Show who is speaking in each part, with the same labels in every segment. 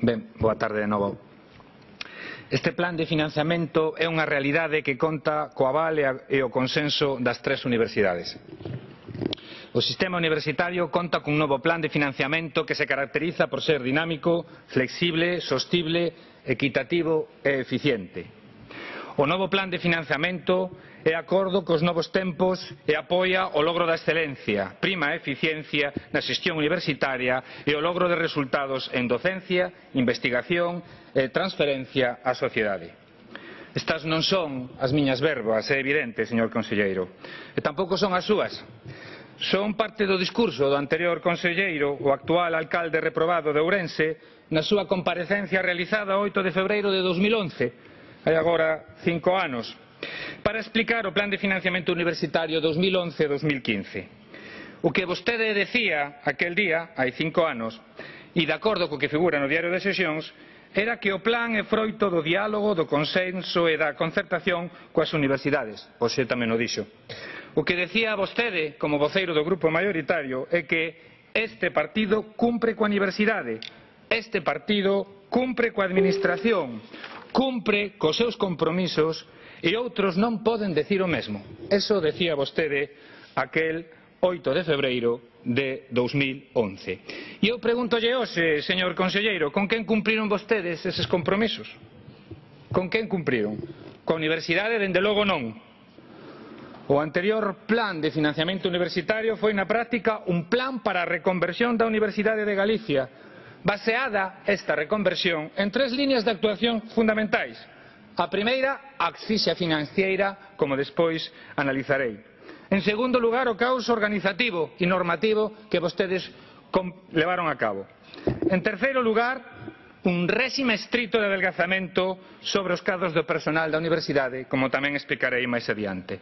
Speaker 1: Ben, boa tarde de novo. Este plan de financiamento é unha realidade que conta co aval e o consenso das tres universidades. O sistema universitario conta cun novo plan de financiamento que se caracteriza por ser dinámico, flexible, sostible, equitativo e eficiente. O novo plan de financiamento é acordo cos novos tempos e apoia o logro da excelencia, prima a eficiencia na xestión universitaria e o logro de resultados en docencia, investigación e transferencia á sociedade. Estas non son as miñas verbas, é evidente, señor conselleiro, e tampouco son as súas. Son parte do discurso do anterior conselleiro, o actual alcalde reprobado de Ourense, na súa comparecencia realizada o 8 de febreiro de 2011, hai agora 5 anos, para explicar o plan de financiamento universitario 2011-2015. O que vostede decía aquel día, hai 5 anos, e de acordo co que figura no diario de sesións, era que o plan é froito do diálogo, do consenso e da concertación coas universidades. Hoxe tamén o dixo. O que decía vostede, como voceiro do grupo maioritario, é que este partido cumpre coa universidade, este partido cumpre coa administración, cumpre cos seus compromisos e outros non poden decir o mesmo. Eso decía vostede aquel 8 de febreiro de 2011. E eu pregúntolle hoxe, señor conselleiro, con quen cumpriron vostedes eses compromisos? Con quen cumpriron? Coa universidade, dende logo non. O anterior plan de financiamento universitario foi na práctica un plan para a reconversión da Universidade de Galicia, baseada esta reconversión en tres líneas de actuación fundamentais. A primeira, a asfixia financiera, como despois analizarei. En segundo lugar, o caos organizativo e normativo que vostedes levaron a cabo. En terceiro lugar, un réxime estrito de adelgazamento sobre os cadros do personal da universidade, como tamén explicarei máis adiante.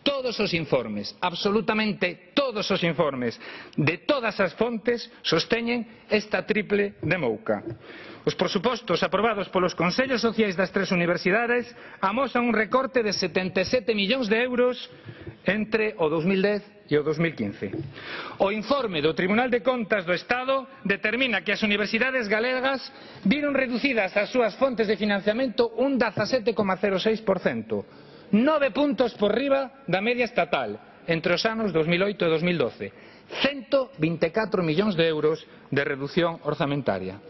Speaker 1: Todos os informes, absolutamente todos os informes de todas as fontes sosteñen esta triple demouca. Os presupostos aprobados polos consellos sociais das tres universidades amosan un recorte de 77 millóns de euros entre o 2010 e o 2015. O informe do Tribunal de Contas do Estado determina que as universidades galegas viron reducidas as súas fontes de financiamento un 17,06%. 9 puntos por riba da media estatal entre os anos 2008 e 2012. 124 millóns de euros de reducción orzamentaria.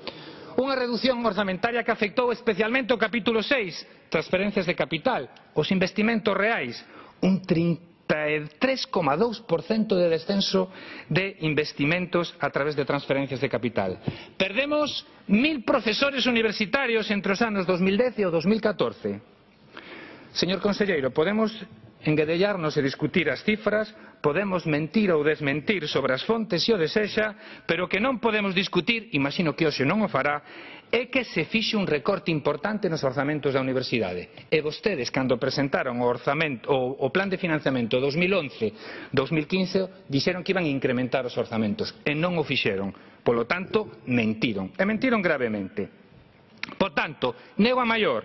Speaker 1: Unha reducción orzamentaria que afectou especialmente o capítulo 6, transferencias de capital, os investimentos reais, un 33,2% de descenso de investimentos a través de transferencias de capital. Perdemos 1000 profesores universitarios entre os anos 2010 e o 2014. Señor conselleiro, podemos enguedellarnos e discutir as cifras, podemos mentir ou desmentir sobre as fontes se o desexa, pero o que non podemos discutir, imagino que hoxe non o fará, é que se fixe un recorte importante nos orzamentos da universidade. E vostedes, cando presentaron o plan de financiamento 2011-2015, dixeron que iban a incrementar os orzamentos, e non o fixeron. Polo tanto, mentiron. E mentiron gravemente. Por tanto, nego a maior,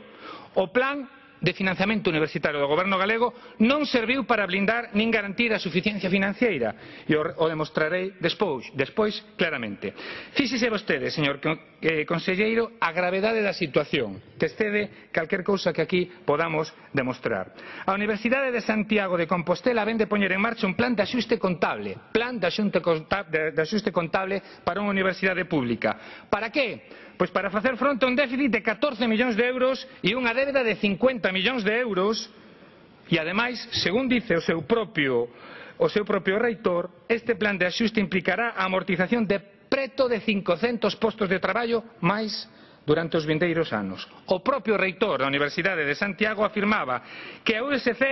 Speaker 1: o plan de financiamento universitario do goberno galego non serviu para blindar nin garantir a suficiencia financeira, e o demostrarei despois claramente. Fíxese vostede, señor conselleiro, a gravedade da situación, que excede calquer cousa que aquí podamos demostrar. A Universidade de Santiago de Compostela vén de poñer en marcha un plan de axuste contable, para unha universidade pública. Para que? Pois para facer fronte a un déficit de 14 millóns de euros e unha débeda de 50 millóns de euros, e ademais, según dice o seu propio reitor, este plan de axuste implicará a amortización de preto de 500 postos de traballo máis durante os vindeiros anos. O propio reitor da Universidade de Santiago afirmaba que a USC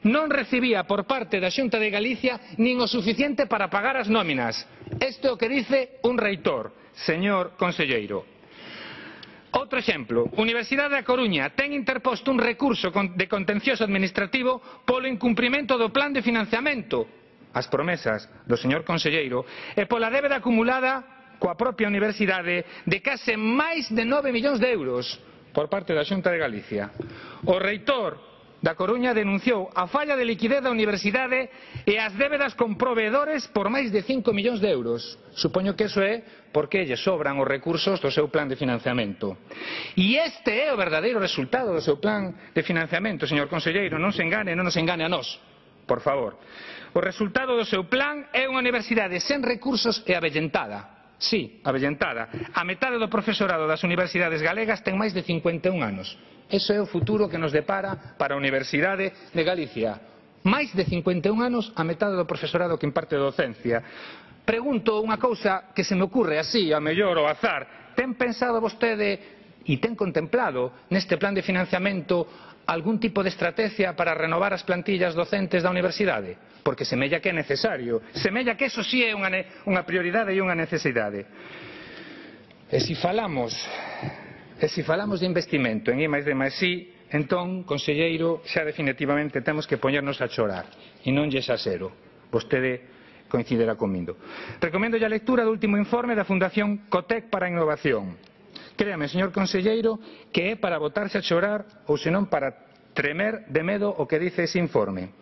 Speaker 1: non recibía por parte da Xunta de Galicia nin o suficiente para pagar as nóminas. Isto é o que dice un reitor, señor conselleiro. Outro exemplo, Universidade da Coruña ten interposto un recurso de contencioso administrativo polo incumprimento do plan de financiamento, as promesas do señor conselleiro, e pola débeda acumulada coa propia universidade de case máis de 9 millóns de euros por parte da Xunta de Galicia. O reitor da Coruña denunciou a falla de liquidez da universidade e as débedas con proveedores por máis de 5 millóns de euros. Supoño que iso é porque lle sobran os recursos do seu plan de financiamento. E este é o verdadeiro resultado do seu plan de financiamento, señor conselleiro, non se engane, non nos engane a nós, por favor. O resultado do seu plan é unha universidade sen recursos e avellentada. Sí, avellentada. A metade do profesorado das universidades galegas ten máis de 51 anos. Ese é o futuro que nos depara para a Universidade de Galicia. Máis de 51 anos a metade do profesorado que imparte docencia. Pregunto unha cousa que se me ocurre así, a mellor ao azar. Ten pensado vostede e ten contemplado neste plan de financiamento algún tipo de estrategia para renovar as plantillas docentes da universidade? Porque semella que é necesario, semella que eso sí é unha prioridade e unha necesidade. E se falamos de investimento en I+D+I, entón, conselleiro, xa definitivamente temos que poñernos a chorar, e non lle exasero. Vostede coincidirá comigo. Recomendo a lectura do último informe da Fundación Cotec para a Innovación. Créame, señor conselleiro, que é para botarse a chorar ou senón para tremer de medo o que dice ese informe.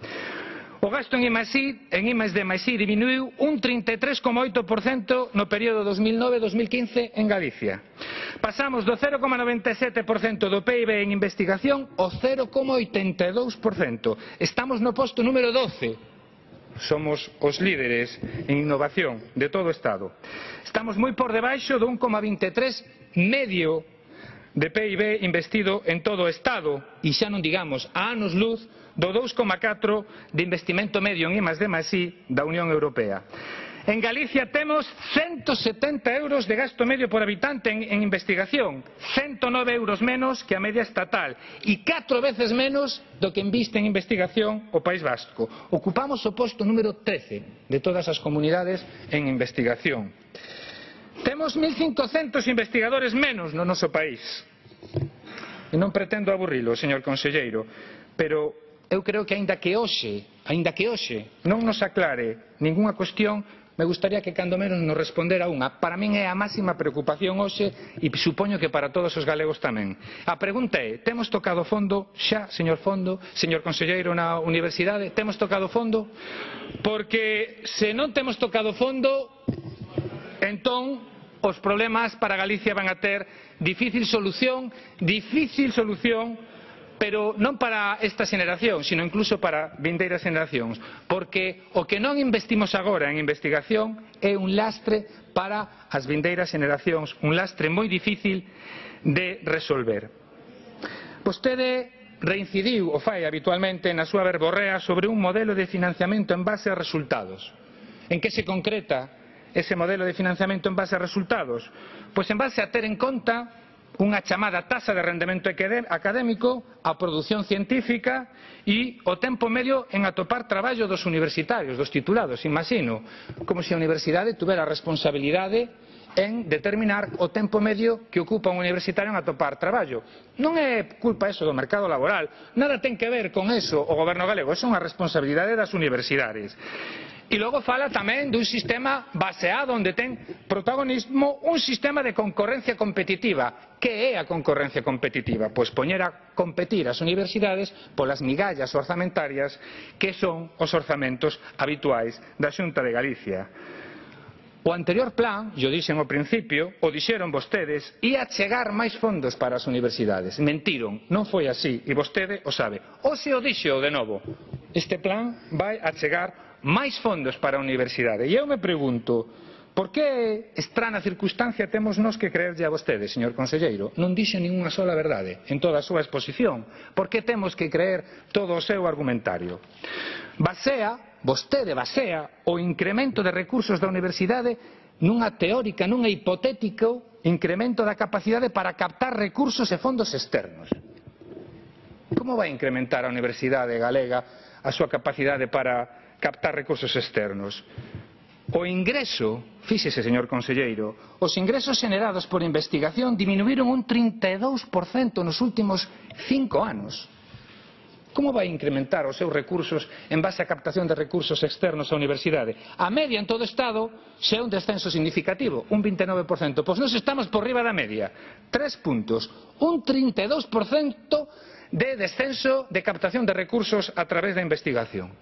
Speaker 1: O gasto en I+D+I diminuiu un 33,8% no período 2009-2015 en Galicia. Pasamos do 0,97% do PIB en investigación ao 0,82%. Estamos no posto número 12. Somos os líderes en innovación de todo o Estado. Estamos moi por debaixo do 1,23 medio de PIB investido en todo o Estado e xa non digamos a anos luz do 2,4 de investimento medio en I+D+I da Unión Europea. En Galicia temos 170 euros de gasto medio por habitante en investigación, 109 euros menos que a media estatal e 4 veces menos do que inviste en investigación o País Vasco. Ocupamos o posto número 13 de todas as comunidades en investigación. Temos 1.500 investigadores menos no noso país. E non pretendo aburrilo, señor conselleiro, pero eu creo que aínda que hoxe non nos aclare ningunha cuestión, me gustaría que cando menos nos respondera unha. Para min é a máxima preocupación hoxe e supoño que para todos os galegos tamén. A pregunta é, temos tocado fondo xa, señor conselleiro, na universidade? Temos tocado fondo? Porque se non temos tocado fondo, entón os problemas para Galicia van a ter difícil solución, pero non para esta xeneración, sino incluso para vindeiras xeneracións, porque o que non investimos agora en investigación é un lastre para as vindeiras xeneracións, un lastre moi difícil de resolver. Vostede reincidiu, o fai habitualmente, na súa verborrea sobre un modelo de financiamento en base a resultados. En que se concreta ese modelo de financiamento en base a resultados? Pois en base a ter en conta unha chamada taxa de rendemento académico, a produción científica e o tempo medio en atopar traballo dos universitarios, dos titulados, imagino, como se a universidade tuvera a responsabilidade en determinar o tempo medio que ocupa un universitario en atopar traballo. Non é culpa eso do mercado laboral, nada ten que ver con eso o goberno galego, é unha responsabilidade das universidades. E logo fala tamén dun sistema baseado onde ten protagonismo un sistema de concorrencia competitiva. Que é a concorrencia competitiva? Pois poñer a competir as universidades polas migallas orzamentarias que son os orzamentos habituais da Xunta de Galicia. O anterior plan, yo dixen ao principio, o dixeron vostedes, ia chegar máis fondos para as universidades. Mentiron, non foi así, e vostede o sabe. Hoxe o dixo de novo, este plan vai a chegar máis fondos para a universidade. E eu me pregunto, por que estrana circunstancia temos nós que creerlle a vostede, señor conselleiro? Non dixo ninguna sola verdade en toda a súa exposición. Por que temos que creer todo o seu argumentario? Vostede basea o incremento de recursos da universidade nunha teórica, nunha hipotético incremento da capacidade para captar recursos e fondos externos. Como vai incrementar a universidade galega a súa capacidade para captar recursos externos? O ingreso, fíxese, señor conselleiro, os ingresos xenerados por investigación diminuíron un 32% nos últimos 5 anos. Como vai incrementar os seus recursos en base á captación de recursos externos á universidade? A media en todo o Estado xa é un descenso significativo, un 29%. Pois nós estamos por riba da media, 3 puntos, un 32% de descenso de captación de recursos a través da investigación.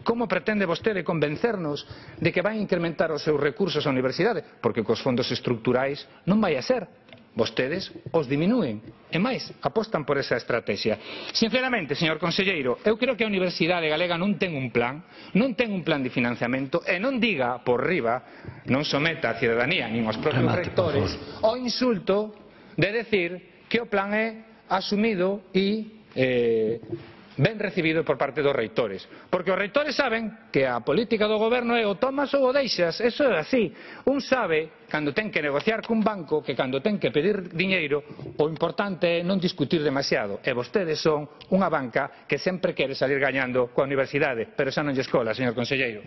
Speaker 1: Como pretende vostede convencernos de que vai incrementar os seus recursos á universidade? Porque cos fondos estruturais non vai a ser. Vostedes os diminúen e máis, apostan por esa estrategia. Sinceramente, señor conselleiro, eu creo que a Universidade Galega non ten un plan de financiamento e non diga por riba, non someta a cidadanía nin os propios rectores o insulto de decir que o plan é asumido e ben recibido por parte dos reitores, porque os reitores saben que a política do goberno é o tomas ou o deixas, eso é así. Un sabe, cando ten que negociar cun banco, que cando ten que pedir diñeiro, o importante é non discutir demasiado, e vostedes son unha banca que sempre quere salir gañando coa universidade, pero xa non lle escola, señor conselleiro.